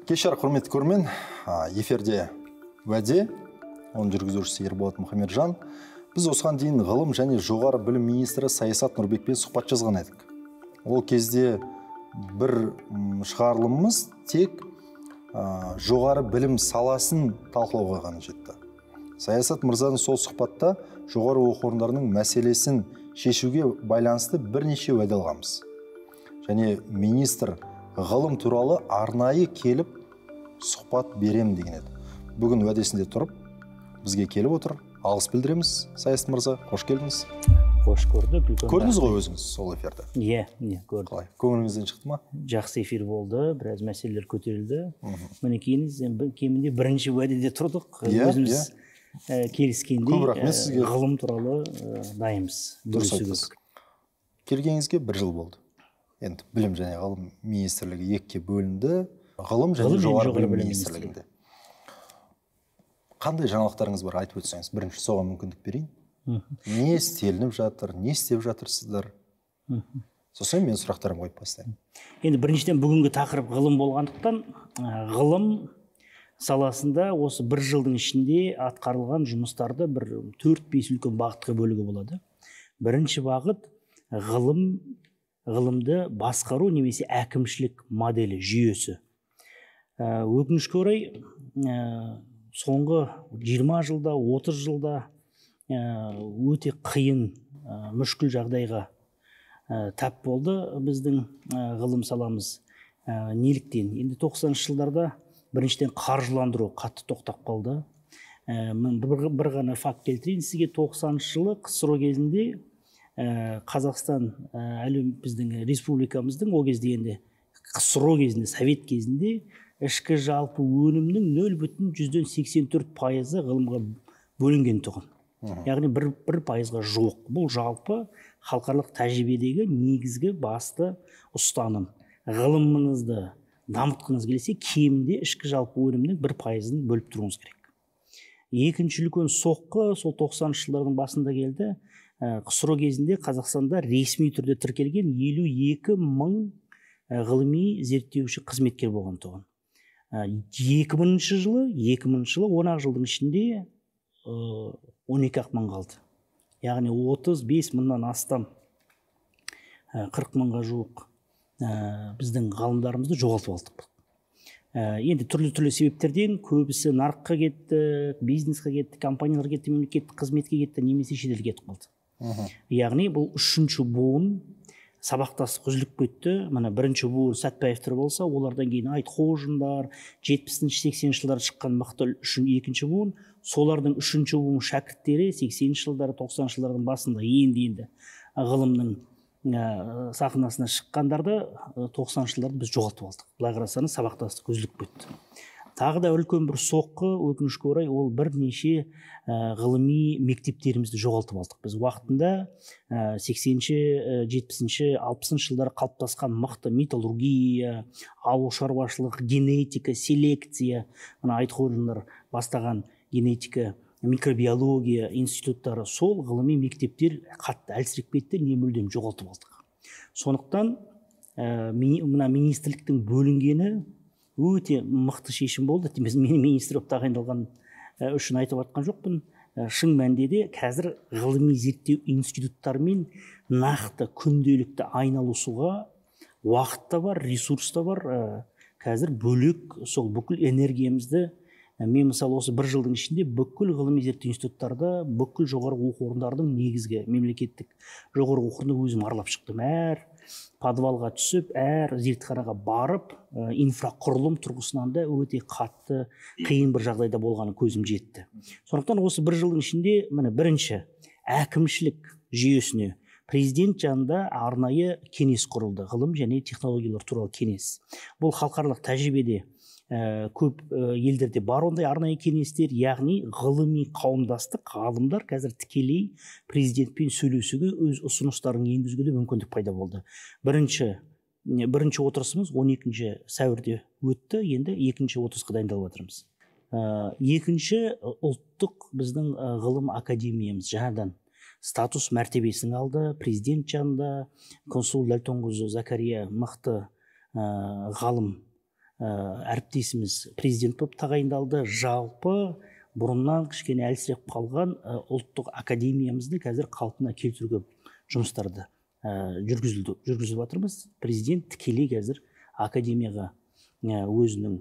Кешір, құрметті көрермен, эфирде уәде, оның жүргізушісі Ерболат Мұхамеджан. Біз осыған дейін ғылым және жоғары білім министрі Саясат Нұрбекпен сұхбат жазған едік. Ол кезде бір шығарылымымыз тек жоғары білім саласын талқылауға ғана жетті. Саясат мырзаның сол сұхбатта жоғары оқу орындарының мәселесін шешуге байланысты бірнеше уәде алғанбыз. Және министр ғылым туралы арнайы келіп сұхбат берем деген еді. Бүгін уәдесінде тұрып, бізге келіп отыр. Алғыс білдіреміз, Саясат мырза, қош келдіңіз. Қош көрдік. Көрдіңіз ғой өзіңіз сол эфирді? Иә, көрдім. Қалай? Көңіліңізден шықты ма? Жақсы эфир болды, біраз мәселелер көтерілді. Мінекейіңіз кемінде бірінші уәдеде тұрдық. Өзіміз келіскендей ғылым туралы дайынбыз. Дұрыс айтасыз. Келгеніңізге 1 жыл болды. Енді білім және ғылым министрлігі екіге бөлінді. Ғылым және жоғары білім министрлігінде. Қандай жаңалықтарыңыз бар, айтып өтсеңіз, бірінші соған мүмкіндік берейін. Не істелініп жатыр, не істеп жатырсыздар? Сосын мен сұрақтарым қойып бастаймын. Енді біріншіден бүгінгі тақырып ғылым болғандықтан, ғылым саласында осы 1 жылдың ішінде атқарылған жұмыстарды бір 4-5 үлкен бағытқа бөлуге болады. Бірінші бағыт ғылымды басқару немесе әкімшілік моделі, жүйесі. Өкінішке орай, соңғы 20 жылда, 30 жылда өте қиын, мүшкіл жағдайға тап болды біздің ғылым саламыз. Неліктен? Енді 90-шы жылдарда біріншіден қаржыландыру қатты тоқтап қалды. Бір ғана факт келтірейін сізге. 90-шы жылы КСРО кезінде Қазақстан біздің республикамыздың о кезде енді КСРО кезінде, Совет кезінде ішкі жалпы өнімнің 0,84% ғылымға бөлінген тұғын. Яғни 1%-ға жоқ. Бұл жалпы халықаралық тәжірибедегі негізгі басты ұстаным. Ғылымыңызды дамытқыңыз келсе, кемінде ішкі жалпы өнімнің 1%-ын бөліп тұруыңыз керек. Екінші үлкен соққы сол 90-шы жылдардың басында келді. КСРО кезінде Қазақстанда ресми түрде тіркелген 52 мың ғылыми зерттеуші қызметкер болған тұғын. 2000 жылы 10 жылдың ішінде 12 мың қалды. Яғни 35 мыңнан астам, 40 мыңға жуық біздің ғалымдарымызды жоғалтып алдық. Енді түрлі себептерден көбісі нарыққа кетті, бизнесқа кетті, компаниялар кетті, мемлекеттік қызметке кетті, немесе шетелге кетіп қалды. Яғни бұл 3-ші буын сабақтастық үзіліп кетті. Мына 1-ші буын Сәтпаевтар болса, олардан кейін Айтқожиндар, 70-80 жылдары шыққан мықты 2-ші буын, солардың 3-ші буын шәкірттері 80 жылдары, 90 жылдардың басында енді ғылымның сахнасына шыққандарды 90 жылдарды біз жоғалтып алдық. Былай қарасаңыз сабақтастық үзіліп кетті. Тағы да үлкен бір соққы, өкінішке орай, ол бірнеше ғылыми мектептерімізді жоғалтып алдық. Біз уақытында 80-ші, 70-ші, 60-ші жылдары қалыптасқан мықты металлургия, ауыл шаруашылық, генетика, селекция, Айтқожиндар бастаған генетика, микробиология институттары, сол ғылыми мектептер қатты әлсіреп кетті, не мүлдем жоғалтып алдық. Сондықтан мына министрліктің бөлінгені өте мықты шешім болды. Мен министр болып тағайындалған үшін айтып жатқан жоқпын. Шын мәнінде де қазір ғылыми зерттеу институттарымен нақты күнделікті айналысуға уақыт та бар, ресурс та бар. Қазір бөлек сол бүкіл энергиямызды, мен мысалы осы 1 жылдың ішінде бүкіл ғылыми зерттеу институттарда, бүкіл жоғары оқу орындардың негізгі мемлекеттік жоғары оқу орнында өзім аралап шықтым. Әр подвалға түсіп, әр зертханаға барып, инфрақұрылым тұрғысынан да өте қатты қиын бір жағдайда болғаны көзім жетті. Сондықтан осы 1 жылдың ішінде бірінші әкімшілік жүйесіне президент жанында арнайы кеңес құрылды, ғылым және технологиялар туралы кеңес. Бұл халықаралық тәжірибеде көп елдерде бар ондай арнайы кеңестер, яғни ғылыми қауымдастық, ғалымдар қазір тікелей президентпен сөйлесуге өз ұсыныстарын енгізуге мүмкіндік пайда болды. Бірінші отырысымыз 12 сәуірде өтті, енді 2-ші отырысқа дайындалып жатырмыз. Екінші, ұлттық біздің ғылым академиямыз жаңадан статус мәртебесін алды. Президент жанында консул Дәлтонқызы Закария мықты ғалым әріптесіміз президент болып тағайындалды. Жалпы бұрыннан кішкене әлсіреп қалған ұлттық академиямызды қазір қалпына келтіруге жұмыстарды жүргізіп жатырмыз. Президент тікелей қазір академияға өзінің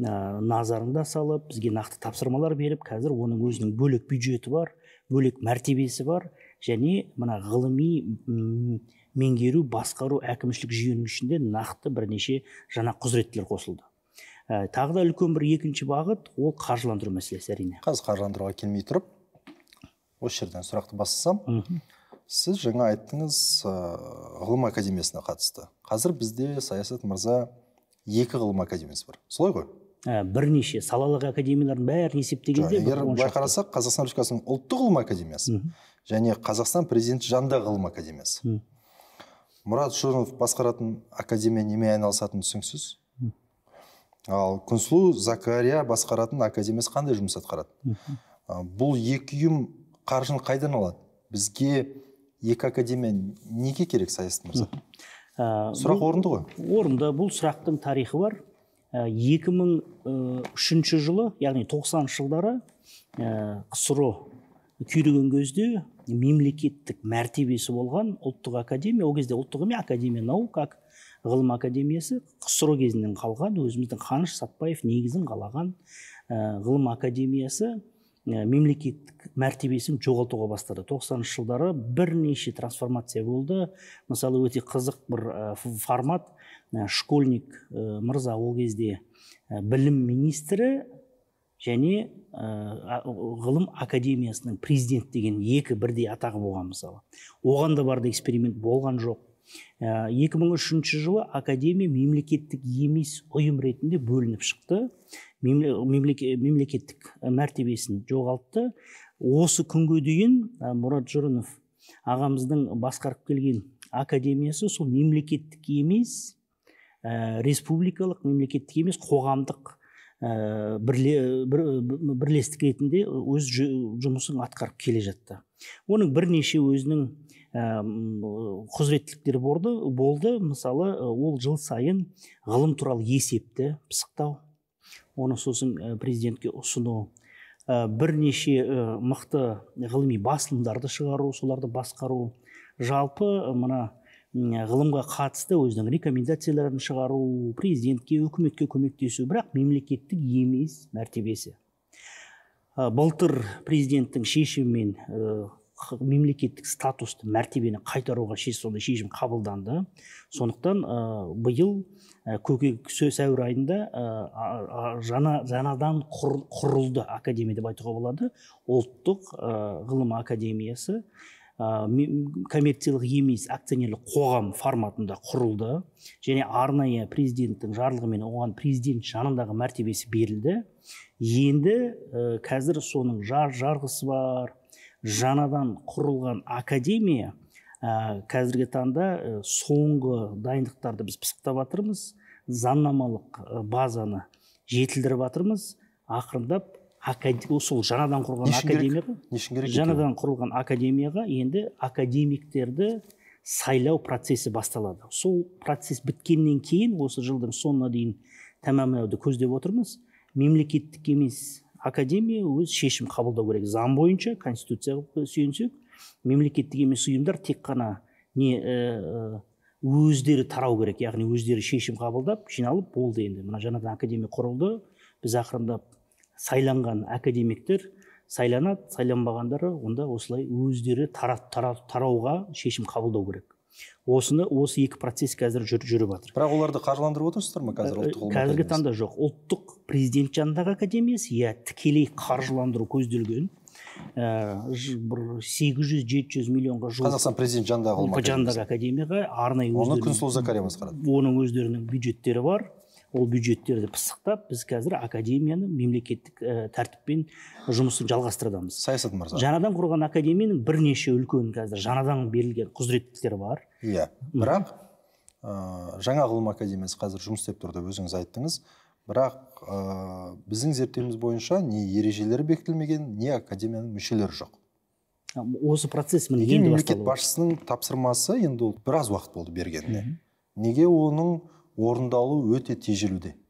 назарында салып, бізге нақты тапсырмалар беріп, қазір оның өзінің бөлек бюджеті бар, бөлек мәртебесі бар, және мына ғылыми меңгеру, басқару, әкімшілік жүйенің ішінде нақты бірнеше жаңа құзыреттілер қосылды. Тағы да үлкен бір екінші бағыт, ол қаржыландыру мәселесі әрине. Қазір қаржыландыруға келмей тұрып, осы жерден сұрақты бастасам, сіз жаңа айттыңыз ғылым академиясына қатысты. Қазір бізде Саясат мырза 2 ғылым академиясы бар. Солай ғой? Бірнеше салалық академиялардың бәрін есептегенде, егер байқарасақ, Қазақстан Республикасының ұлттық ғылым академиясы және Қазақстан президенті жанындағы ғылым академиясы. Мұрат Жұрынов басқаратын академия немен айналысатыны түсініксіз. Ал Күнсұлу Закария басқаратын академиясы қандай жұмыс атқарады? Бұл екі ұйым қаржыны қайдан алады? Бізге 2 академия неге керек, Саясат мырза? Сұрақ орынды ғой? Орынды. Бұл сұрақтың тарихы бар. 2003 жылы, яғни 90 жылдары КСРО күйреген кезде мемлекеттік мәртебесі болған ұлттық академия, ол кезде ұлттық емес, академия наук, ғылым академиясы КСРО кезінен қалған, өзіміздің Қаныш Сәтпаев негізін қалаған ғылым академиясы мемлекеттік мәртебесін жоғалтуға бастады. 90 жылдары бірнеше трансформация болды. Мысалы, өте қызық бір формат. Школьник мырза ол кезде білім министрі және ғылым академиясының президент деген 2 бірдей атағы болған. Мысалы, оған да барды эксперимент болған жоқ. 2003 жылы академия мемлекеттік емес ұйым ретінде бөлініп шықты. Мемлекеттік мәртебесін жоғалтты. Осы күнге дейін Мұрат Жұрынов ағамыздың басқарып келген академиясы сол мемлекеттік емес, республикалық, мемлекеттік емес, қоғамдық бірлестік ретінде өз жұмысын атқарып келе жатты. Оның бірнеше өзінің құзыреттіліктері болды. Мысалы, ол жыл сайын ғылым туралы есепті пысықтау, оны сосын президентке ұсыну, бірнеше мықты ғылыми басылымдарды шығару, соларды басқару, жалпы мына ғылымға қатысты өзінің рекомендацияларын шығару, президентке, үкіметке көмектесу, бірақ мемлекеттік емес мәртебесі. Былтыр президенттің шешімімен мемлекеттік статусты, мәртебені қайтаруға шешім қабылданды. Сондықтан биыл сәуір айында жаңадан құрылды академия деп айтуға болады. Ұлттық ғылым академиясы коммерциялық емес акционерлік қоғам форматында құрылды, және арнайы президенттің жарлығымен оған президент жанындағы мәртебесі берілді. Енді қазір соның жарғысы бар. Жаңадан құрылған академия қазіргі таңда соңғы дайындықтарды біз пысықтап жатырмыз, заңнамалық базаны жетілдіріп жатырмыз. Ақырындап сол жаңадан құрылған академияға енді академиктерді сайлау процесі басталады. Сол процесс біткеннен кейін, осы жылдың соңына дейін тәмамдауды көздеп отырмыз. Мемлекеттік емес академия өз шешім қабылдау керек. Заң бойынша, конституцияға сүйенсек, мемлекеттік емес ұйымдар тек қана өздері тарау керек, яғни өздері шешім қабылдап, жиналып болды. Енді мына жаңадан академия құрылды, біз ақырындап сайланған академиктер сайланады, сайланбағандары онда осылай өздері тарауға шешім қабылдау керек. Осы 2 процесс қазір жүріп жатыр. Бірақ оларды қаржыландырып отырсыздар ма қазір ұлттық ғылым академиясы? Қазіргі таңда жоқ. Ұлттық президент жанындағы академиясы тікелей қаржыландыру көзделген. 800-700 миллионға жуық Қазақстан президент жанындағы академияға арнайы оны Күнсұлу Закария басқарады. Оның өздерінің бюджеттері бар. Ол бюджеттерді пысықтап, біз қазір академияны мемлекеттік тәртіппен жұмысын жалғастырамыз. Саясат мырза. Жаңадан құрған академияның бірнеше үлкен қазір жаңадан берілген құзыреттіліктері бар. Иә, бірақ жаңа ғылым академиясы қазір жұмыс істеп тұр деп өзіңіз айттыңыз. Бірақ біздің зерттеуіміз бойынша не ережелері бекітілмеген, не академияның мүшелері жоқ. Осы процесс енді басталды. Мемлекет басшысының тапсырмасы енді ол біраз уақыт болды бергенде. Неге оның орындалу өте тежелуде?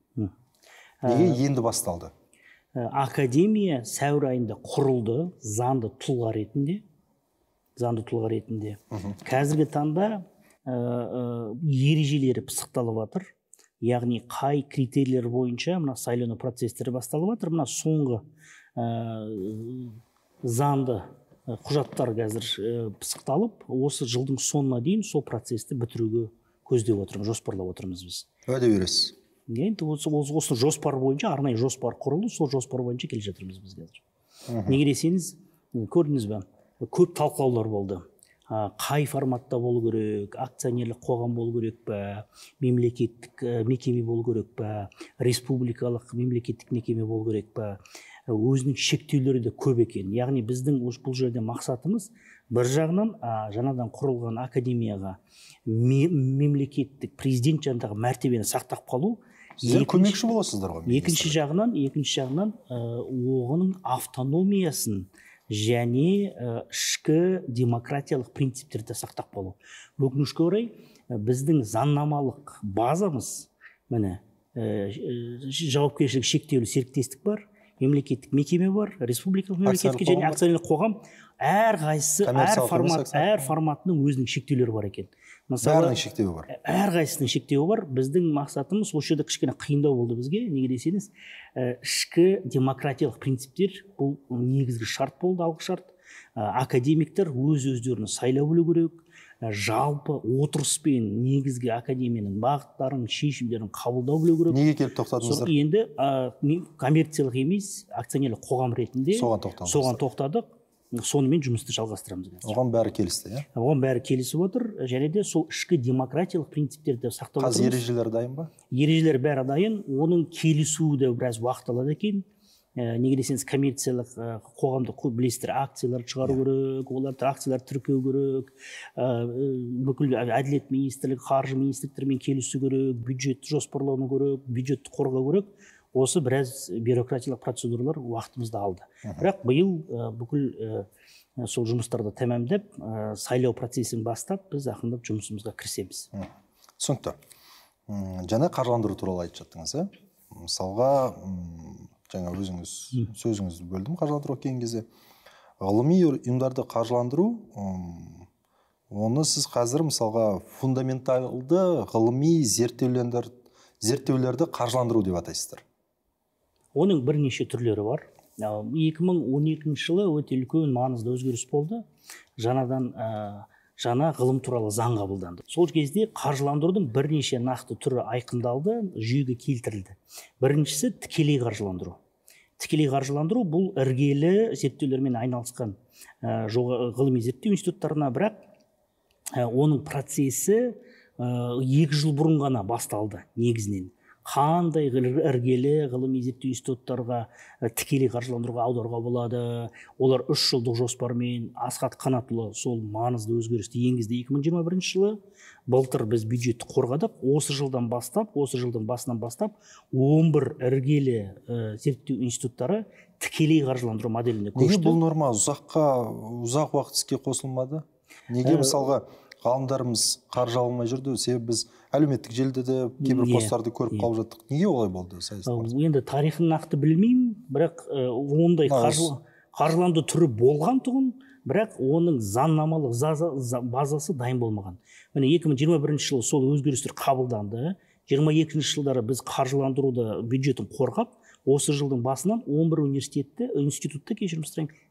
Неге енді басталды? Академия сәуір айында құрылды, заңды тұлға ретінде. Қазіргі таңда ережелері пысықталып жатыр. Яғни қай критерийлер бойынша мына сайлану процестері басталып жатыр. Мына соңғы заңды құжаттар қазір пысықталып, осы жылдың соңына дейін сол процесті бітіруге көздеп отырмыз, жоспарлап отырмыз біз. Уәде бересіз? Енді осы жоспар бойынша, арнайы жоспар құрылды, сол жоспар бойынша келе жатырмыз біз қазір. Неге десеңіз, көрдіңіз бе, көп талқылаулар болды. Қай форматта болу керек, акционерлік қоғам болу керек пе, мемлекеттік мекеме болу керек пе, республикалық мемлекеттік мекеме болу керек пе, өзінің шектеулері де көп екен. Яғни біздің бұл жерде мақсатымыз бір жағынан жаңадан құрылған академияға мемлекеттік президент жанындағы мәртебені сақтап қалу. Сіздер көмекші боласыздар ғой. Екінші жағынан оғының автономиясын және ішкі демократиялық принциптерді сақтап қалу. Өкінішке орай біздің заңнамалық базамыз, міне, жауапкершілігі шектеулі серіктестік бар, мемлекеттік мекеме бар, республикалық мемлекеттік және акционерлік қоғам, әр форматының өзінің шектеулері бар екен. Бәрінің шектеуі бар. Әрқайсысының шектеуі бар. Біздің мақсатымыз осы жерде кішкене қиындау болды бізге. Неге десеңіз, ішкі демократиялық принциптер бұл негізгі шарт болды, алғы шарт. Академиктер өздерін сайлау білу керек. Жалпы отырыспен негізгі академияның бағыттарын, шешімдерін қабылдау білу керек. Неге келіп тоқтадыңыздар? Енді коммерциялық емес, акционерлік қоғам ретінде соған тоқтадық. Сонымен жұмысты жалғастырамыз. Оған бәрі келісті, иә? Оған бәрі келісіп отыр, және де сол ішкі демократиялық принциптерді сақтап отырмыз. Қазір ережелер дайын ба? Ережелер бәрі дайын, оның келісуі де біраз уақыт алады екен. Неге десеңіз, коммерциялық қоғамды білесіздер, акциялар шығару керек, оларды акциялар тіркеу керек, бүкіл әділет министрлігі, қаржы министрліктермен келісу керек, бюджетті жоспарлауы керек, бюджетті қорғау керек. Осы біраз бюрократиялық процедуралар уақытымызды алды. Бірақ биыл бүкіл сол жұмыстарды тәмамдап, сайлау процесін бастап, біз ақырындап жұмысымызға кірісеміз. Түсінікті. Жаңа қаржыландыру туралы айтып жаттыңыз, мысалға, жаңа өзіңіз сөзіңізді бөлдім, қаржыландыру келген кезде. Ғылыми ұйымдарды қаржыландыру, оны сіз қазір мысалға фундаменталды ғылыми зерттеулерді қаржыландыру деп атайсыздар. Оның бірнеше түрлері бар. 2012 жылы өте үлкен маңызды өзгеріс болды. Жаңа ғылым туралы заң қабылданды. Сол кезде қаржыландырудың бірнеше нақты түрі айқындалды, жүйеге келтірілді. Біріншісі тікелей қаржыландыру. Тікелей қаржыландыру бұл іргелі зерттеулермен айналысқан ғылыми зерттеу институттарына, бірақ оның процесі 2 жыл бұрын ғана басталды негізінен. Қандай іргелі ғылыми зерттеу институттарға тікелей қаржыландыруға аударуға болады. Олар 3 жылдық жоспармен Асхат Қанатұлы сол маңызды өзгерісті енгізді 2021 жылы. Былтыр біз бюджетті қорғадық. Осы жылдың басынан бастап 11 іргелі зерттеу институттары тікелей қаржыландыру моделіне көшті. Неге бұл норма ұзақ уақыт іске қосылмады? Неге мысалға ғалымдарымыз қаржы алмай жүрді? Себебі біз әлеуметтік желіде де кейбір посттарды көріп қалып жаттық. Неге олай болды? Енді тарихын нақты білмеймін, бірақ ондай қаржыландыру түрі болған тұғын, бірақ оның заңнамалық базасы дайын болмаған. Міне 2021 жылы сол өзгерістер қабылданды. 22 жылдары біз қаржыландыруды бюджетін қорғап, осы жылдың басынан 11 институтты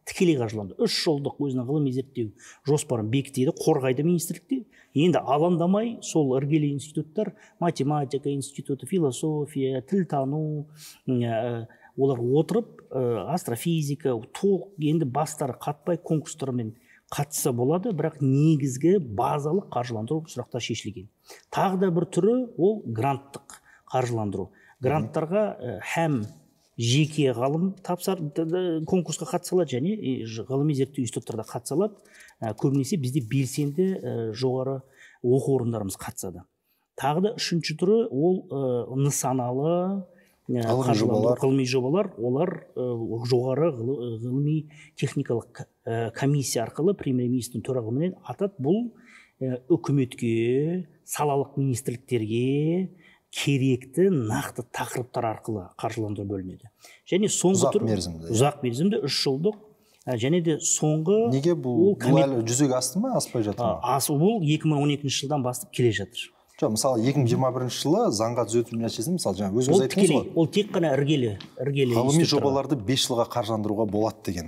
тікелей қаржыланды. 3 жылдық өзінің ғылыми зерттеу жоспарын бекітеді, қорғайды министрлікте. Енді алаңдамай сол іргелі институттар, математика институты, философия, тілтану, олар отырып, астрофизика, толық енді бастары қатпай конкурстармен қатыса болады, бірақ негізгі базалық қаржыландыру сұрақтар шешілген. Тағы да бір түрі ол гранттық қаржыландыру. Гранттарға һәм жеке ғалым конкурсқа қатысалады және ғылыми зерттеу институттарда қатысалады. Көбінесе бізде белсенді жоғары оқу орындарымыз қатысады. Тағы да үшінші түрі ол нысаналы ғылыми жобалар. Олар жоғары ғылыми техникалық комиссия арқылы премьер-министрдің төрағалығымен атат. Бұл үкіметке, салалық министрліктерге, керекті нақты тақырыптар арқылы қаржыландыру бөлінеді. Және соңғы ұзақ мерзімді 3 жылдық және де соңғы неге бұл әлі жүзеге асты ма, аспай жатыр ма? Бұл 2012 жылдан бастап келе жатыр. Жоқ, мысалы 2021 жылы заңға түзету нәтижесінде мысалы жаңа өзіңіз айттыңыз ғой. Ол тек қана іргелі ғылыми жобаларды 5 жылға қаржыландыруға болады деген.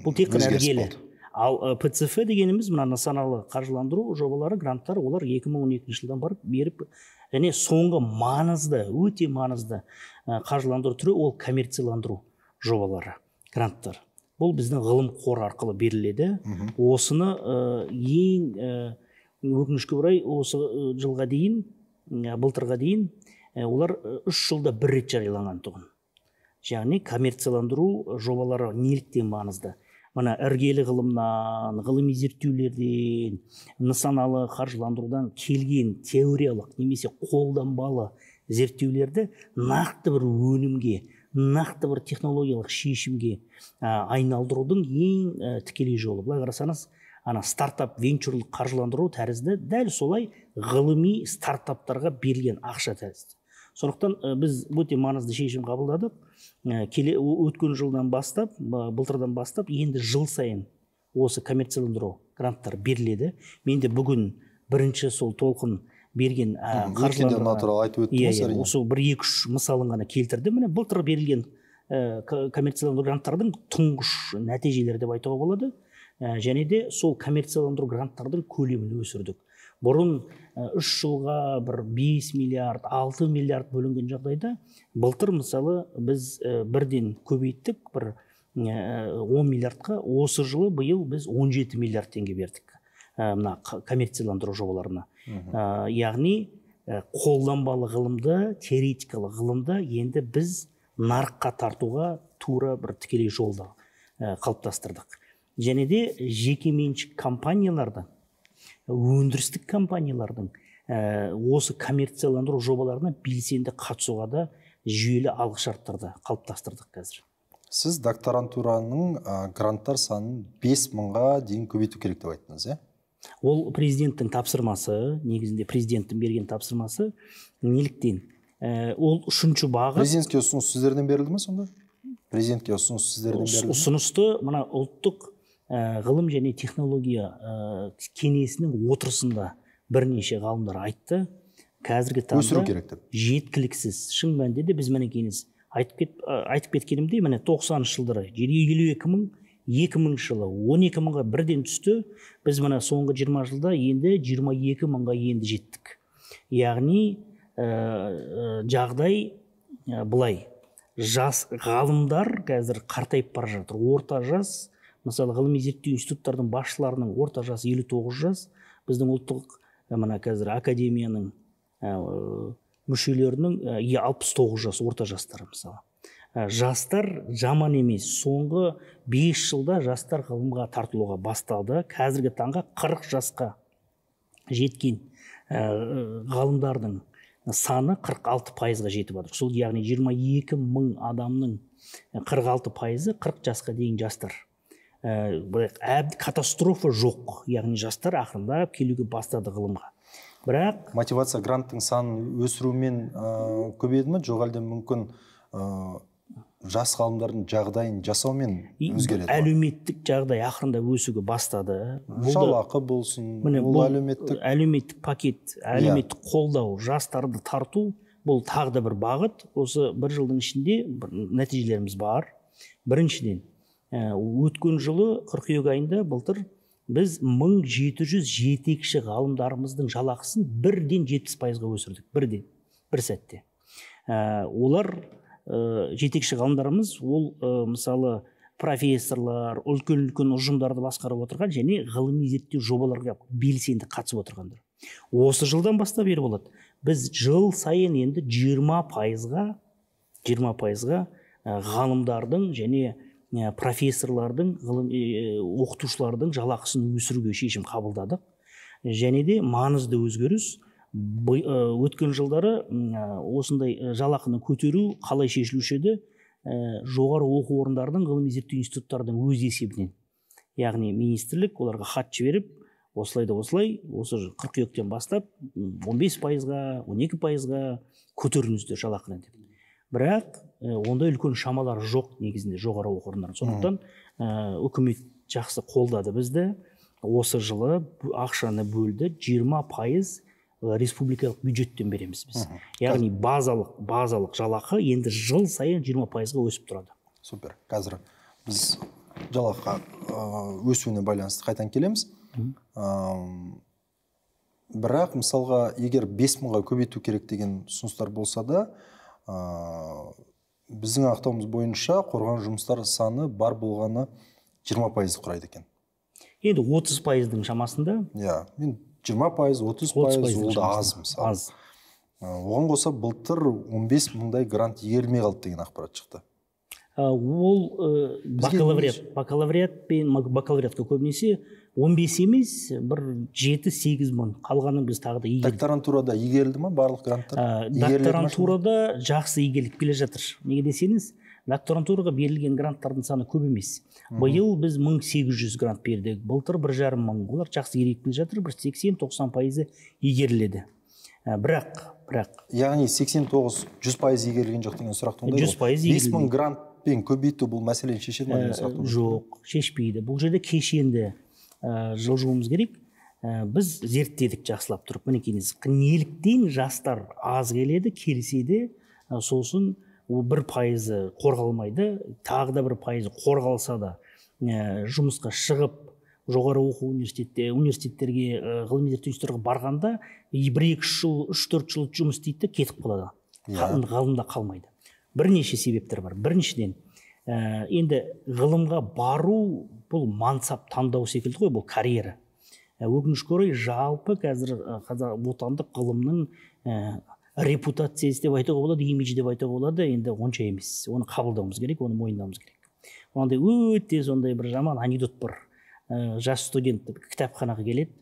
Бұл тек қана іргелі. Ал ПЦФ дегеніміз мына нысаналы қаржыландыру жобалары, гранттар, олар 2012 жылдан беріп, және соңғы маңызды, өте маңызды қаржыландыру түрі ол коммерцияландыру жобалары, гранттар. Бұл біздің ғылым қоры арқылы беріледі. Осыны ең өкінішке орай осы жылға дейін, былтырға дейін олар 3 жылда бір рет жарияланған тұғын. Яғни коммерцияландыру жобалары неліктен маңызды? Мына іргелі ғылымнан, ғылыми зерттеулерден, нысаналы қаржыландырудан келген теориялық немесе қолданбалы зерттеулерді нақты бір өнімге, нақты бір технологиялық шешімге айналдырудың ең тікелей жолы. Былай қарасаңыз, стартап венчурлық қаржыландыру тәрізді дәл солай ғылыми стартаптарға берілген ақша тәрізді. Сондықтан біз өте маңызды шешім қабылдадық. Өткен жылдан бастап, былтырдан бастап, енді жыл сайын осы коммерцияландыру гранттар беріледі. Менде бүгін бірінші сол толқын берген қаржыландыру, осы 1-2 мысалын ғана келтірді. Міне былтыр берілген коммерцияландыру гранттардың тұңғыш нәтижелері деп айтуға болады. Және де сол коммерцияландыру гранттардың көлемін өсірдік. Бұрын 3 жылға бір 5 миллиард, 6 миллиард бөлінген жағдайда, былтыр мысалы біз бірден көбейттік, бір 10 миллиардқа, осы жылы биыл біз 17 миллиард теңге бердік мына коммерцияландыру жобаларына. Яғни қолданбалы ғылымды, теоретикалық ғылымды енді біз нарыққа тартуға тура бір тікелей жолды қалыптастырдық. Және де жекеменшік компаниялардың, өндірістік компаниялардың осы коммерцияландыру жобаларына белсенді қатысуға да жүйелі алғышарттарды қалыптастырдық қазір. Сіз докторантураның гранттар санын 5000-ға дейін көбейту керек деп айттыңыз, иә? Ол президенттің тапсырмасы, негізінде президенттің берген тапсырмасы. Неліктен? Ол үшінші бағыт. Президентке ұсыныс сіздерден берілді ме сонда? Президентке ұсыныс сіздерден берілді ме? Ұсынысты мына ұлттық ғылым және технология кеңесінің отырысында бірнеше ғалымдар айтты. Қазіргі таңда жеткіліксіз. Шын мәнінде де біз мінекейіңіз айтып кеткенімдей, міне 90-шы жылдары 52 мың, 2000 жылы 12 мыңға бірден түсті. Біз мына соңғы 20 жылда енді 22 мыңға енді жеттік. Яғни жағдай бұлай. Жас ғалымдар қазір қартайып бара жатыр. Орта жас, мысалы ғылыми зерттеу институттардың басшыларының орта жасы 59 жас. Біздің ұлттық мына қазір академияның мүшелерінің 69 жас, орта жастар мысалы. Жастар жаман емес. Соңғы 5 жылда жастар ғылымға тартылуға басталды. Қазіргі таңға 40 жасқа жеткен ғалымдардың саны 46%-ға жетіп отыр. Сол яғни 22 мың адамның 46%-ы 40 жасқа дейін жастар. Катастрофа жоқ. Яғни жастар ақырындап келуге бастады ғылымға. Бірақ мотивация гранттың санын өсірумен көбейді ме? Жоқ әлде мүмкін жас ғалымдардың жағдайын жасаумен өзгереді? Әлеуметтік жағдай ақырында өсуге бастады. Жалақы болсын, бұл әлеуметтік пакет, әлеуметтік қолдау, жастарды тарту, бұл тағы да бір бағыт. Осы бір жылдың ішінде нәтижелеріміз бар. Біріншіден, өткен жылы қыркүйек айында былтыр біз 1700 жетекші ғалымдарымыздың жалақысын бірден 70%-ға өсірдік. Бірден, бір сәтте. Олар жетекші ғалымдарымыз, ол мысалы профессорлар, үлкен ұжымдарды басқарып отырған және ғылыми зерттеу жобаларға белсенді қатысып отырғандар. Осы жылдан бастап бері болады. Біз жыл сайын енді 20%-ға ғалымдардың және профессорлардың, оқытушылардың жалақысын өсіруге шешім қабылдадық. Және де маңызды өзгеріс, өткен жылдары осындай жалақыны көтеру қалай шешілуші еді? Жоғары оқу орындардың, ғылыми зерттеу институттардың өз есебінен. Яғни министрлік оларға хат жіберіп, осылай осы қыркүйектен бастап 15%-ға 12%-ға көтеріңіздер жалақыны деп. Бірақ ондай үлкен шамалар жоқ негізінде жоғары оқу орындарының. Сондықтан үкімет жақсы қолдады бізді. Осы жылы ақшаны бөлді, 20% республикалық бюджеттен береміз біз. Яғни базалық жалақы енді жыл сайын 20%-ға өсіп тұрады. Супер. Қазір біз жалақы өсуіне байланысты қайтан келеміз. Бірақ мысалға егер 5000-ға көбейту керек деген ұсыныстар болса да, біздің ақтауымыз бойынша қорған жұмыстар саны бар болғаны 20% құрайды екен. Енді 30%-дің шамасында. Иә, 20%, 30% ол да аз мысалы. Аз. Оған қоса былтыр 15 мыңдай грант игерілмей қалды деген ақпарат шықты. Ол бакалавриат пен бакалавриатқа көбінесе 15 емес, бір 7-8 мың. Қалғаны біз тағы да игердік. Докторантурада игерілді ма барлық гранттар? Докторантурада жақсы игеріліп келе жатыр. Неге десеңіз, докторантураға берілген гранттардың саны көп емес. Биыл біз 1800 грант бердік. Былтыр 1,5 мың. Олар жақсы игеріліп келе жатыр, бір 80-90% игеріледі. Бірақ яғни 89-100% игерілген жоқ деген сұрақ туындайды. 100% игерілген. 5000 грантпен көбейту бұл мәселені шешеді ме деген сұрақ туындайды? Жоқ, шешпейді. Бұл жерде кешенді жылжуымыз керек. Біз зерттедік жақсылап тұрып. Мінекейіңіз, неліктен жастар аз келеді, келіседі, сосын 1% қорғалмайды, тағы да 1% қорғалса да жұмысқа шығып жоғары оқу университеттерге, ғылыми зерттеу институттарға барғанда 1-2 жыл, 3-4 жыл жұмыс істейді, кетіп қалады. Ғылымда қалмайды. Бірнеше себептер бар. Біріншіден, енді ғылымға бару бұл мансап таңдау секілді ғой, бұл карьера. Өкінішке орай жалпы қазір отандық ғылымның репутациясы деп айтуға болады, имидж деп айтуға болады, енді онша емес. Оны қабылдауымыз керек, оны мойындауымыз керек. Ондай өте сондай бір жаман анекдот бар. Жас студент кітапханаға келеді.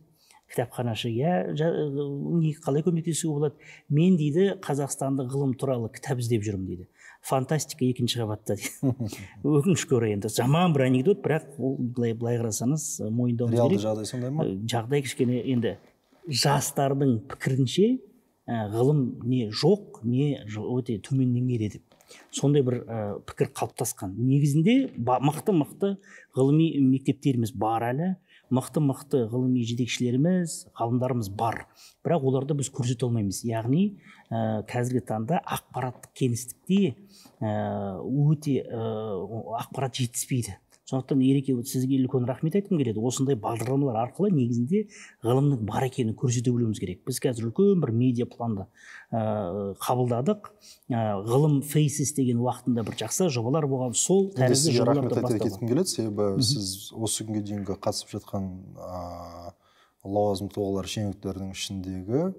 Кітапханашы, қалай көмектесуге болады? Мен дейді, Қазақстанда ғылым туралы кітап іздеп жүрмін дейді. Фантастика 2-ші қабатта дейді. Өкінішке орай енді жаман бір анекдот, бірақ былай қарасаңыз мойындауымыз керек. Реалды жағдай сондай ма? Жағдай кішкене енді жастардың пікірінше ғылым не жоқ, не өте төмен деңгейде деп. Сондай бір пікір қалыптасқан. Негізінде мықты ғылыми мектептеріміз бар әлі, мықты ғылыми жетекшілеріміз, ғалымдарымыз бар. Бірақ оларды біз көрсете алмаймыз. Яғни қазіргі таңда ақпараттық кеңістікте өте ақпарат жетіспейді. Сондықтан Ереке, сізге үлкен рахмет айтқым келеді. Осындай бағдарламалар арқылы негізінде ғылымның бар екенін көрсете білуіміз керек. Біз қазір үлкен бір медиа планды қабылдадық. Ғылым фейсес деген уақытында бір жақсы жобалар болған, сол тәрізді жобаларды бастауға. Кеткім келеді, себебі сіз осы күнге дейінгі қатысып жатқан лауазымды тұлғалар шенеуніктердің ішіндегі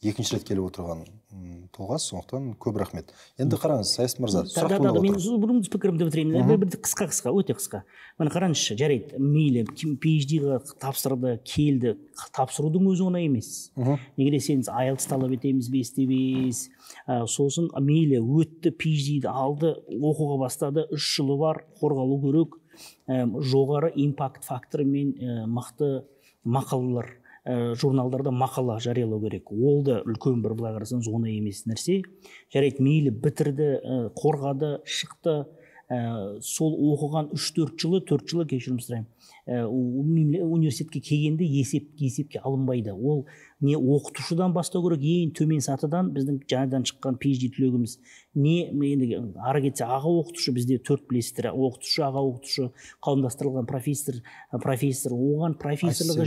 екінші рет келіп отырған тұлғасы, сондықтан көп рахмет. Енді қараңыз, Саясат мырза, сұрақ туындап отыр. Мен бұрын пікірімді бітіремін. Қысқа, өте қысқа. Міне қараңызшы, жарайды, мейлі PhD-ға тапсырды, келді, тапсырудың өзі оңай емес. Неге десеңіз, IELTS талап етеміз 5-5. Сосын мейлі өтті, PhD-ді алды, оқуға бастады, 3 жылы бар, қорғалу керек, жоғары импакт факторымен мықты мақалалар, журналдарда мақала жариялау керек. Ол да үлкен бір былай қарасаңыз оңай емес нәрсе. Жарайды, мейлі бітірді, қорғады, шықты, сол оқыған 3-4 жылы, 4 жылы кешірім сұраймын. Университетке келгенде есепке алынбайды. Ол не оқытушыдан бастау керек, ең төмен сатыдан біздің жаңадан шыққан PhD түлегіміз. Не ары кетсе аға оқытушы, бізде 4 білесіздер, оқытушы, аға оқытушы, қауымдастырылған профессор, оған профессорлығы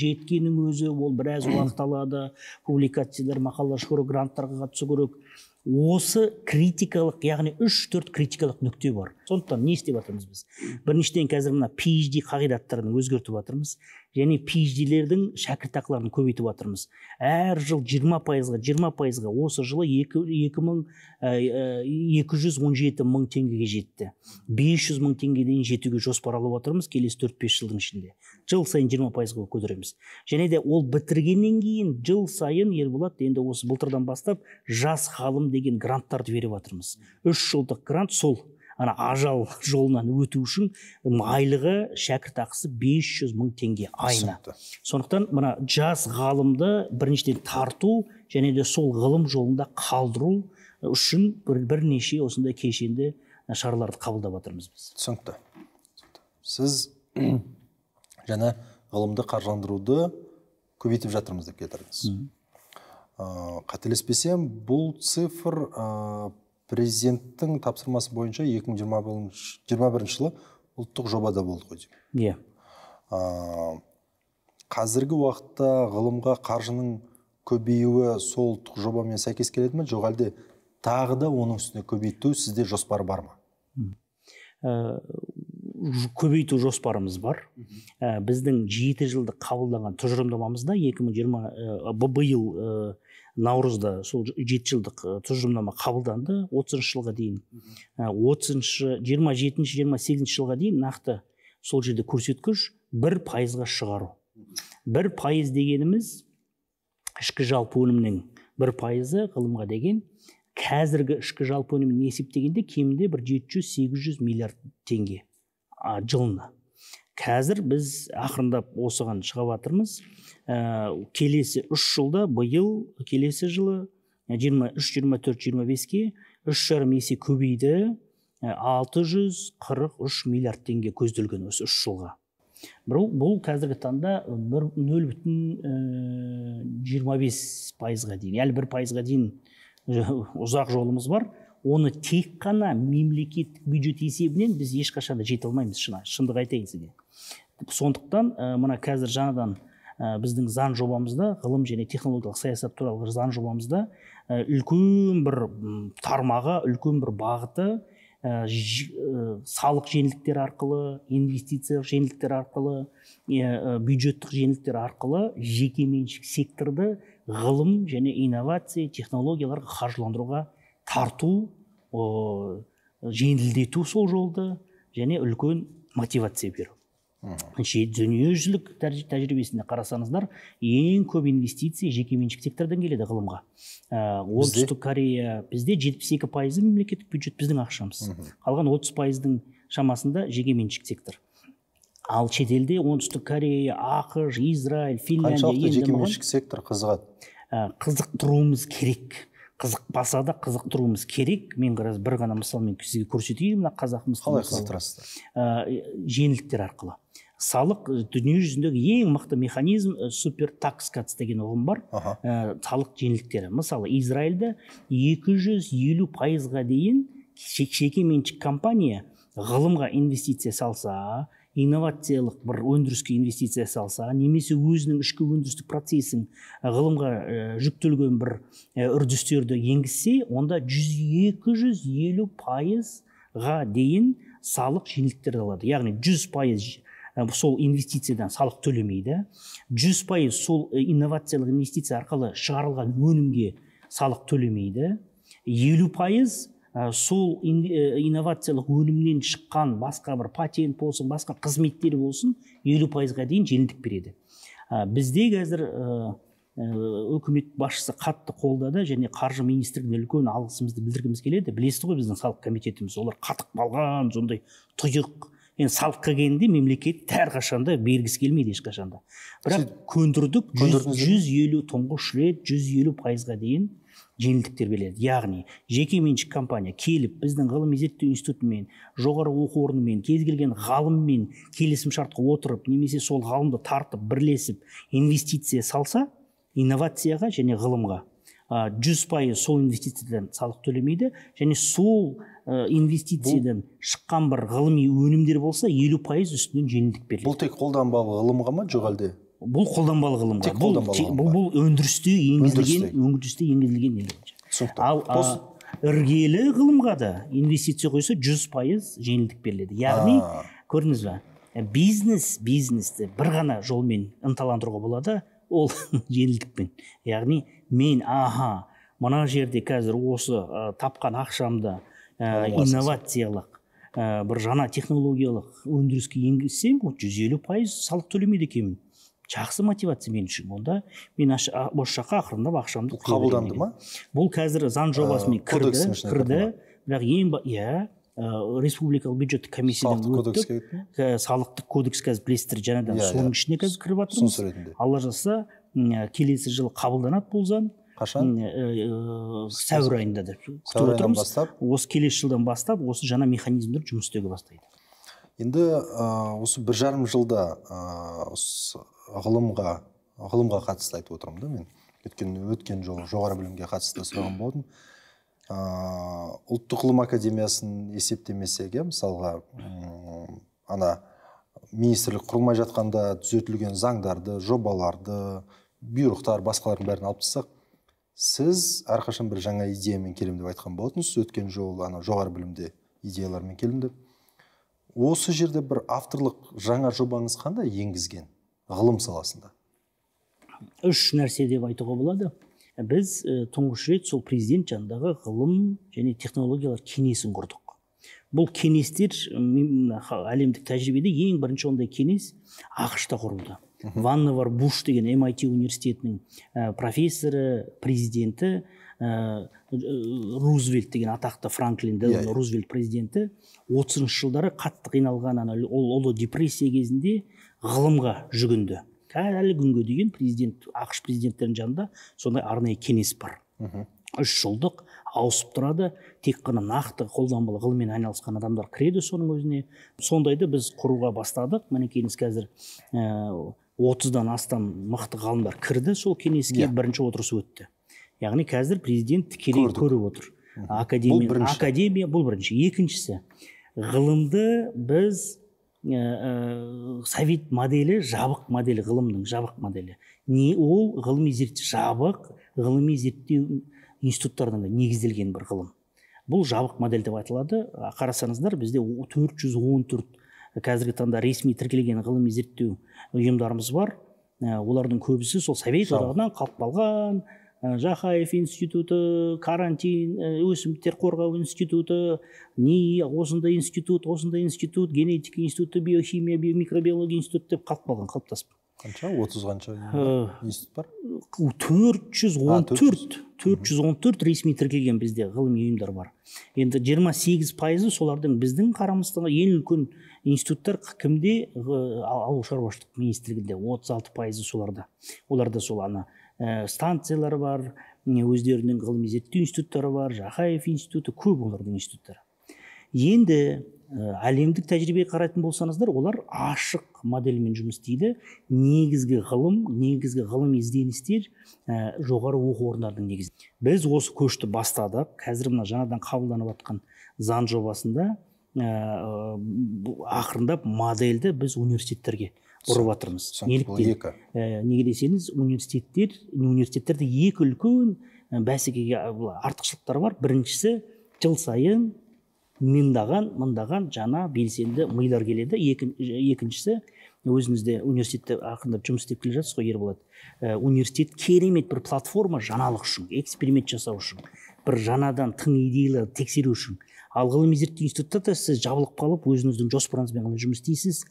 жеткеннің өзі ол біраз уақыт алады, публикациялар, мақалалар шығару, гранттарға қатысу керек. Осы критикалық, яғни 3-4 критикалық нүкте бар. Сондықтан не істеп жатырмыз біз? Біріншіден қазір мына PhD қағидаттарын өзгертіп жатырмыз, және PhD-лердің шәкіртақыларын көбейтіп жатырмыз. Әр жыл 20%-ға, осы жылы 217 мың теңгеге жетті. 500 мың теңгеден жетуге жоспарлап отырмыз келесі 4-5 жылдың ішінде. Жыл сайын 20%-ға көтереміз. Және де ол бітіргеннен кейін жыл сайын Ерболат, енді осы былтырдан бастап жас ғалым деген гранттарды беріп жатырмыз. 3 жылдық грант сол ана ажал жолынан өту үшін айлығы шәкіртақысы 500 мың теңге айына. Сондықтан мына жас ғалымды біріншіден тарту және де сол ғылым жолында қалдыру үшін бірнеше осындай кешенді шараларды қабылдап жатырмыз біз. Түсінікті. Сіз және ғылымды қаржыландыруды көбейтіп жатырмыз деп кетірдіңіз. Қателеспесем, бұл цифр президенттің тапсырмасы бойынша 2021 жылы ұлттық жобада болды ғой деймін. Қазіргі уақытта ғылымға қаржының көбеюі сол ұлттық жобамен сәйкес келеді ме, жоқ әлде тағы да оның үстіне көбейту сізде жоспар бар ма? Көбейту жоспарымыз бар. Біздің 7 жылдық қабылданған тұжырымдамамызда 2020 биыл наурызда сол 7 жылдық тұжырымдама қабылданды. 30 жылға дейін 27-28 жылға дейін нақты сол жерде көрсеткіш 1%-ға шығару. 1% дегеніміз ішкі жалпы өнімнің 1% ғылымға деген. Қазіргі ішкі жалпы өнімін есептегенде кемінде бір 700-800 миллиард теңге жылына. Қазір біз ақырындап осыған шығып жатырмыз. Келесі 3 жылда, биыл келесі жылы 23, 24, 25-ке 3,5 есе көбейді. 643 миллиард теңге көзделген осы 3 жылға. Бұл қазіргі таңда 0,25%-ға дейін, әлі 1%-ға дейін ұзақ жолымыз бар. Оны тек қана мемлекеттік бюджет есебінен біз ешқашан да жете алмаймыз, шындық айтайын сізге. Сондықтан мына қазір жаңадан біздің заң жобамызда, ғылым және технологиялық саясат туралы заң жобамызда үлкен бір тармағы, үлкен бір бағыты салық жеңілдіктері арқылы, инвестициялық жеңілдіктер арқылы, бюджеттік жеңілдіктер арқылы жекеменшік секторды ғылым және инновация технологияларға қаржыландыруға тарту, жеңілдету сол жолды және үлкен мотивация беру. Дүниежүзілік тәжірибесінде қарасаңыздар, ең көп инвестиция жекеменшік сектордан келеді ғылымға. Оңтүстік Корея, бізде 72% мемлекеттік бюджет біздің ақшамыз. Қалған 30%-дің шамасында жекеменшік сектор. Ал шетелде оңтүстік Корея, ақш, Израиль, Финляндия қаншалықты жекеменшік сектор қызығады? Қызықтыруымыз керек. Қызықпаса да қызықтыруымыз керек. Мен бір ғана мысалмен сізге көрсетейін, қазақымыз қалай қызықтырасыздар? Жеңілдіктер арқылы. Салық дүниежүзіндегі ең мықты механизм супер такс катс деген ұғым бар. Салық жеңілдіктері. Мысалы, Израильда 250%-ға дейін жекеменшік компания ғылымға инвестиция салса, инновациялық бір өндіріске инвестиция салса, немесе өзінің ішкі өндірістік процесін ғылымға жүктелген бір үрдістерді енгізсе, онда 200-250%-ға дейін салық жеңілдіктер алады. Яғни 100% сол инвестициядан салық төлемейді. 100% сол инновациялық инвестиция арқылы шығарылған өнімге салық төлемейді. 50% сол инновациялық өнімнен шыққан басқа бір патент болсын, басқа қызметтер болсын, 50%-ға дейін жеңілдік береді. Бізде қазір үкімет басшысы қатты қолдады және қаржы министрлігіне үлкен алғысымызды білдіргіміз келеді. Білесіз ғой біздің салық комитетіміз, олар қатып қалған, сондай тұйық. Енді салыққа келгенде мемлекет әрқашанда бергісі келмейді ешқашанда. Бірақ көндірдік 150 тұңғыш рет 150%-ға дейін жеңілдіктер береді. Яғни жекеменшік компания келіп біздің ғылыми зерттеу институтымен, жоғары оқу орнымен, кез келген ғалыммен келісім шартқа отырып, немесе сол ғалымды тартып, бірлесіп инвестиция салса, инновацияға және ғылымға 100% сол инвестициядан салық төлемейді, және сол инвестициядан шыққан бір ғылыми өнімдер болса 50% үстінен жеңілдік беріледі. Бұл тек қолданбалы ғылымға ма, жоқ әлде? Бұл қолданбалы ғылымға. Бұл өндірісте енгізілген. Ал іргелі ғылымға да инвестиция қойса 100% жеңілдік беріледі. Яғни, көрдіңіз бе, бизнесті бір ғана жолмен ынталандыруға болады, ол жеңілдікпен. Яғни мен мына жерде қазір осы тапқан ақшамды инновациялық бір жаңа технологиялық өндіріске енгізсем, 150% салық төлемейді екенмін. Жақсы мотивация мен үшін. Онда мен осы жаққа ақырындап ақшамды қабылданды ма? Бұл қазір заң жобасымен кірді, бірақ республикалық бюджеттік комиссиядан өттік. Салықтық кодекс қазір білесіздер, жаңадан соның ішіне қазір кіріп жатырмыз. Алла жазса келесі жылы қабылданады бұл заң. Қашан? Сәуір айында деп күтіп отырмыз. Осы келесі жылдан бастап осы жаңа механизмдер жұмыс істеуге бастайды. Енді осы 1,5 жылда ғылымға қатысты айтып отырмын да мен. Өткен жолы жоғары білімге қатысты сұраған болдым. Ұлттық ғылым академиясын есептемесек, мысалға министрлік құрылмай жатқанда түзетілген заңдарды, жобаларды, бұйрықтар, басқалардың бәрін алып тастақ, сіз әрқашан бір жаңа идеямен келем деп айтқан болатынсыз. Өткен жолы жоғары білімде идеялармен келем деп. Осы жерде бір авторлық жаңа жобаңыз қандай енгізген ғылым саласында? 3 нәрсе деп айтуға болады. Біз тұңғыш рет сол президент жанындағы ғылым және технологиялар кеңесін құрдық. Бұл кеңестер әлемдік тәжірибеде ең бірінші ондай кеңес ақш-та құрылды. Ванневар Буш деген MIT университетінің профессоры, президенті, Рузвельт деген атақты Франклин Делано Рузвельт президенті 30 жылдары қатты қиналған ұлы депрессия кезінде ғылымға жүгінді. Әлі күнге дейін ақш президенттерінің жанында сондай арнайы кеңес бар. 3 жылдық ауысып тұрады, тек қана нақты қолданбалы ғылыммен айналысқан адамдар кіреді соның өзіне. Сондайды біз құруға бастадық. Мінекейіңіз қазір 30-дан астам мықты ғалымдар кірді сол кеңеске, бірінші отырысы өтті. Яғни қазір президент тікелей көріп отыр. Академия бұл бірінші. Екіншісі, ғылымды біз совет моделі, жабық моделі, ғылымның жабық моделі. Не ол ғылыми зерттеу институттарында негізделген бір ғылым. Бұл жабық модель деп айтылады. Қарасаңыздар, бізде 414 қазіргі таңда ресми тіркелген ғылыми зерттеу ұйымдарымыз бар. Олардың көбісі сол совет одағынан қалып қалған. Жақаев институты, карантин, өсімдіктер қорғау институты, осындай институт, генетика институты, биохимия, микробиология институты деп қалып қалған, қалыптасып. Қанша? 30-қанша институт бар? 414 ресми тіркелген бізде ғылыми ұйымдар бар. Енді 28% солардың біздің қарамыздағы ең үлкен институттар кімде? Ауыл шаруашылық министрлігінде 36% соларда. Оларда сол станциялар бар, өздерінің ғылыми зерттеу институттары бар, Жақаев институты, көп олардың институттары. Енді әлемдік тәжірибеге қарайтын болсаңыздар, олар ашық модельмен жұмыс істейді. Негізгі ғылыми ізденістер жоғары оқу орындарының негізінде. Біз осы көшті бастадық. Қазір мына жаңадан қабылданып жатқан заң жобасында ақырындап модельді біз университеттерге бұрып жатырмыз. Неліктен? Неге десеңіз, университеттерде екі үлкен бәсекеге артықшылықтар бар. Біріншісі, жыл сайын мыңдаған жаңа белсенді милар келеді. Екіншісі, өзіңізде университетте ақырындап жұмыс істеп келе жатсыз ғой, Ерболат. Университет керемет бір платформа жаңалық үшін, эксперимент жасау үшін, бір жаңадан тың идеялар тексеру үшін. Ал ғылыми зерттеу институтта сіз жабылып қалып, өзіңіздің жоспарыңызбен ғана жұмыс істейсіз.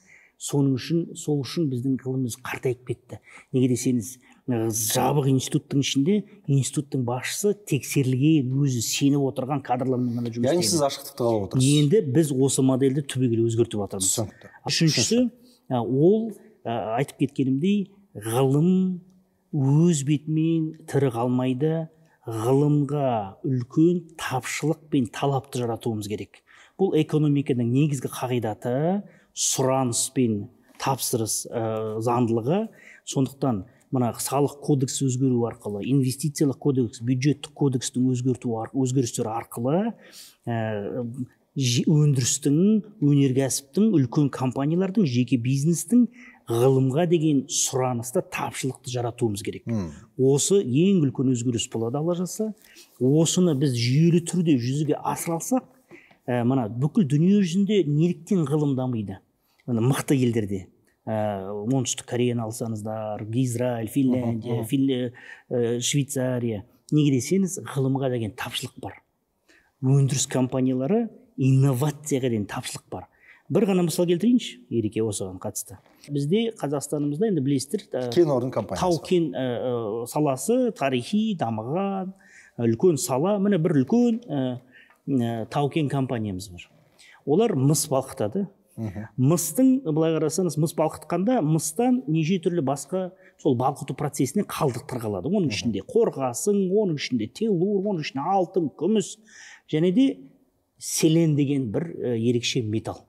Сол үшін біздің ғылымымыз қартайып кетті. Неге десеңіз, жабық институттың ішінде институттың басшысы тексерілген, өзі сеніп отырған кадрлармен ғана жұмыс істейді. Яғни сіз ашықтықты қалап отырсыз. Енді біз осы модельді түбегейлі өзгертіп жатырмыз. Үшіншісі, ол айтып кеткенімдей, ғылым өз бетімен тірі қалмайды. Ғылымға үлкен тапшылық пен талапты жаратуымыз керек. Бұл экономиканың негізгі қағидаты, сұраныс пен тапсырыс заңдылығы. Сондықтан мына салық кодексі өзгеру арқылы, инвестициялық кодекс, бюджеттік кодекстің өзгерістері арқылы өндірістің, өнеркәсіптің, үлкен компаниялардың, жеке бизнестің ғылымға деген сұранысты, тапшылықты жаратуымыз керек. Осы ең үлкен өзгеріс болады, Алла жазса. Осыны біз жүйелі түрде жүзеге асыра алсақ, мына бүкіл дүние жүзінде неліктен ғылым дамиды? Мықты елдерде, оңтүстік Кореяны алсаңыздар, Израиль, Финляндия, Швейцария. Неге десеңіз, ғылымға деген тапшылық бар. Өндіріс компаниялары, инновацияға деген тапшылық бар. Бір ғана мысал келтірейінші, Ереке, осыған қатысты. Бізде Қазақстанымызда, енді білесіздер, кен орын компаниясы. Тау-кен саласы тарихи дамыған үлкен сала. Міне бір үлкен тау-кен компаниямыз бар. олар мыс балқытады. Мыстың, былай қарасаңыз, мыс балқытқанда мыстан неше түрлі басқа сол балқыту процесіне қалдықтар қалады. Оның ішінде қорғасын, оның ішінде теллур, оның ішінде алтын, күміс және де селен деген бір ерекше металл.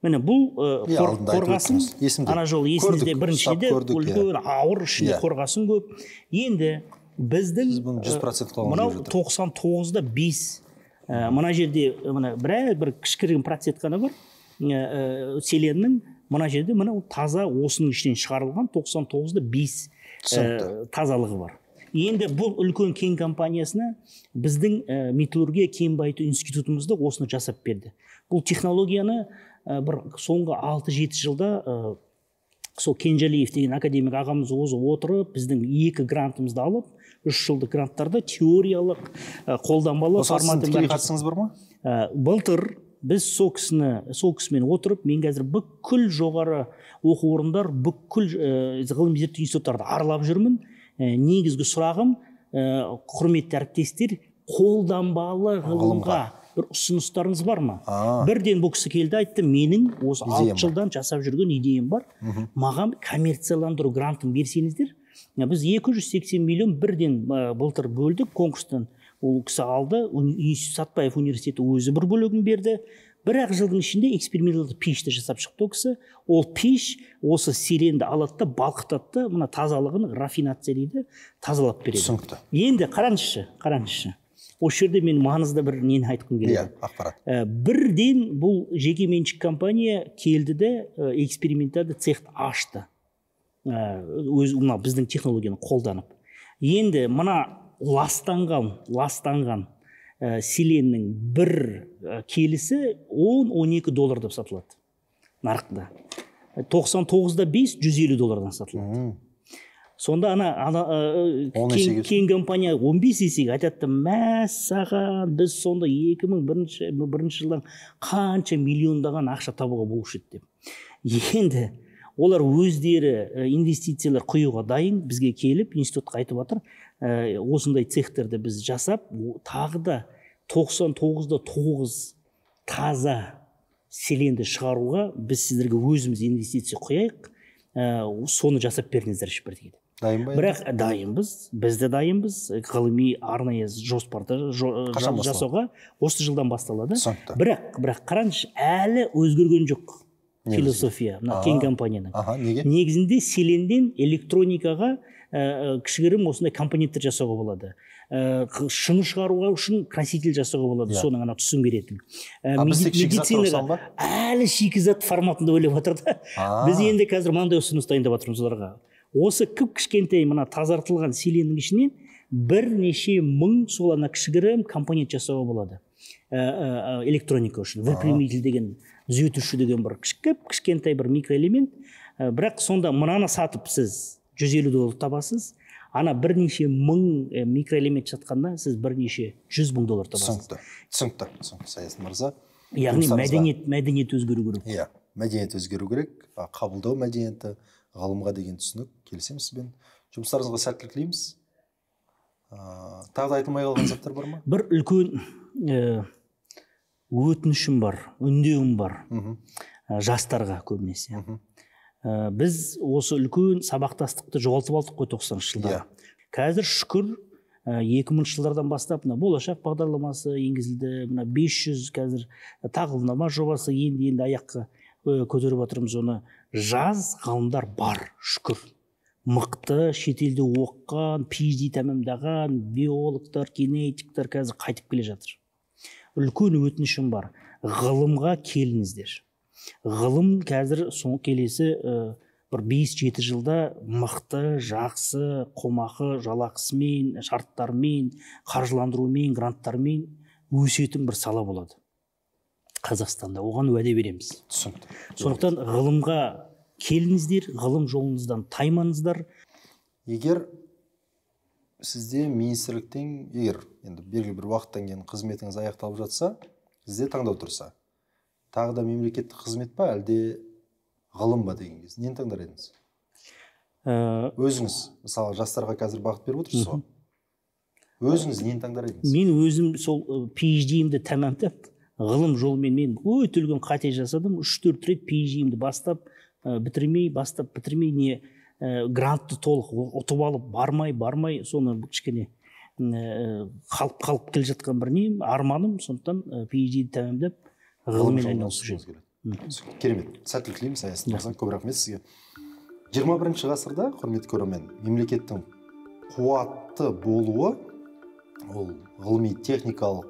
Міне бұл қорғасын, ана жол есіңізде біріншіде үлкен ауыр, ішінде қорғасын көп. Енді біздің мынау 99-да 5, мына жерде бір кішкірім процент қана бар селеннің, мына жерде мынау таза осының ішінен шығарылған 99-да 5 тазалығы бар. Енді бұл үлкен кен компаниясына біздің металлургия кен байыту институтымызда осыны жасап берді. Бұл технологияны бір соңғы 6-7 жылда сол Кенжалиев деген академик ағамыз өзі отырып, біздің 2 грантымызды алып, 3 жылдық гранттарда теориялық, қолданбалы форматы бар. Қатысыңыз бар ма? Былтыр біз сол кісімен отырып, мен қазір бүкіл жоғары оқу орындар, бүкіл ғылыми зерттеу институттарды аралап жүрмін. Негізгі сұрағым, құрметті әріптестер, қолданбалы ғылымға бір ұсыныстарыңыз бар ма? Бірден бұл кісі келді, айтты, менің осы 6 жылдан жасап жүрген идеям бар. Маған коммерцияландыру грантын берсеңіздер, біз 280 миллион бірден былтыр бөлдік конкурстан. Ол кісі алды, Сатпаев университеті өзі бір бөлігін берді. Бір-ақ жылдың ішінде эксперименталды пешті жасап шықты ол кісі. Ол пеш осы селенді алады, балқытады, мына тазалығын рафинация дейді, тазалап береді. Түсінікті. Енді қараңызшы. Осы жерде мен маңызды бір нені айтқым келеді. Ақпарат. Бірден бұл жекеменшік компания келді де эксперименталды цехты ашты. Біздің технологияны қолданып. Енді мына ластанған селеннің бір келісі 10-12 доллардан сатылады нарықта. 99-да 5, 150 доллардан сатылады. Сонда кен компания 15 есеге айтады, мәссаған, біз сонда 2001 жылдан қанша миллиондаған ақша табуға болушы еді деп. Енді олар өздері инвестициялар құюға дайын, бізге келіп, институтқа айтып жатыр, осындай цехтерді біз жасап, тағы да 99-да 9 таза селенді шығаруға біз сіздерге өзіміз инвестиция құяйық, соны жасап беріңіздер дейді. Дайын ба? Бірақ дайынбыз, біз де дайынбыз, ғылыми арнайы жоспарды жасауға осы жылдан басталады. Бірақ қараңызшы, әлі өзгерген жоқ философия, кен компанияның. Негізінде селенден электроникаға кішігірім осындай компоненттер жасауға болады. Шыны шығаруға үшін краситель жасауға болады, соның түсін беретін. Медицинаға әлі шикізат форматында ойлап жатыр да. Біз енді қазір мынандай ұсыныс дайындап жатырмыз оларға. Осы кішкентай мына тазартылған селеннің ішінен бірнеше мың сол кішігірім компонент жасауға болады. Электроника үшін, выпрямитель деген, түзетуші деген бір кішкентай бір микроэлемент. Бірақ сонда мынаны сатып сіз 150 доллар табасыз, ана бірнеше мың микроэлемент жатқанда сіз бірнеше 100 мың доллар табасыз. Түсінікті, Саясын мырза. Яғни мәдениет өзгеру керек. Иә, мәдениет өзгеру керек, қабылдау мәдениеті, ғалымға деген түсінік, келісемін сізбен. Жұмыстарыңызға сәттілік тілейміз. Тағы да айтылмай қалған заттар бар ма? Бір үлкен өтінішім бар, үндеуім бар жастарға көбінесе. Біз осы үлкен сабақтастықты жоғалтып алдық қой 90-шы жылдары. Қазір шүкір 2000 жылдардан бастап болашақ бағдарламасы енгізілді, 500 қазір тағылымдама жобасы енді аяққа көтеріп отырмыз оны. Жас ғалымдар бар, шүкір. Мықты, шетелде оққан, PhD тәмамдаған биологтар, генетиктер қазір қайтып келе жатыр. Үлкен өтінішім бар. Ғылымға келіңіздер. Ғылым қазір келесі бір 5-7 жылда мықты, жақсы, қомақы, жалақысымен, шарттармен, қаржыландырумен, гранттармен өсетін бір сала болады. Қазақстанда оған уәде береміз. Сондықтан ғылымға келіңіздер, ғылым жолыңыздан таймаңыздар. Егер сізде министрліктен, егер енді белгілі бір уақыттан кейін қызметіңіз аяқталып жатса, сізде таңдау тұрса, тағы да мемлекеттік қызмет па, әлде ғылым ба деген кез, нені таңдар едіңіз? Өзіңіз, мысалы, жастарға қазір бағыт беріп отырсыз ғой. Өзіңіз нені таңдар едіңіз? Мен өзім сол PhD-имді тәмамдап, ғылым жолымен мен өте үлкен қате жасадым. 3-4 рет PhD-имді бастап бітірмей не грантты толық ұтып алып бармай соны кішкене қалып келе жатқан бір нем арманым. Сондықтан PhD-ді тәмамдап ғылыммен айналысу керек. Керемет, сәттілік тілейміз Аясын мырза, көп рахмет сізге. 21 ғасырда, құрметті көрермен, мемлекеттің қуатты болуы ол ғылыми техникалық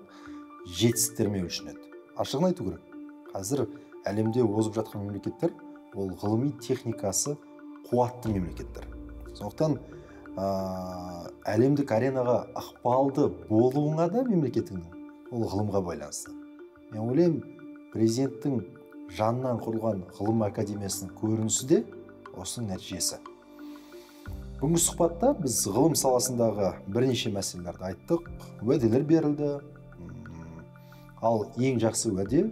жетістіктермен өлшенеді. Ашығын айту керек. Қазір әлемде озып жатқан мемлекеттер ол ғылыми техникасы қуатты мемлекеттер. Сондықтан әлемдік аренаға ықпалды болуыңа да мемлекетіңнің ол ғылымға байланысты. Мен ойлаймын, президенттің жанынан құрылған ғылым академиясының көрінісі де осының нәтижесі. Бүгінгі сұхбатта біз ғылым саласындағы бірнеше мәселелерді айттық, уәделер берілді. Ал ең жақсы уәде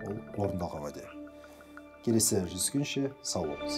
ол орындалған уәде. Келесі жүздескенше сау болыңыз.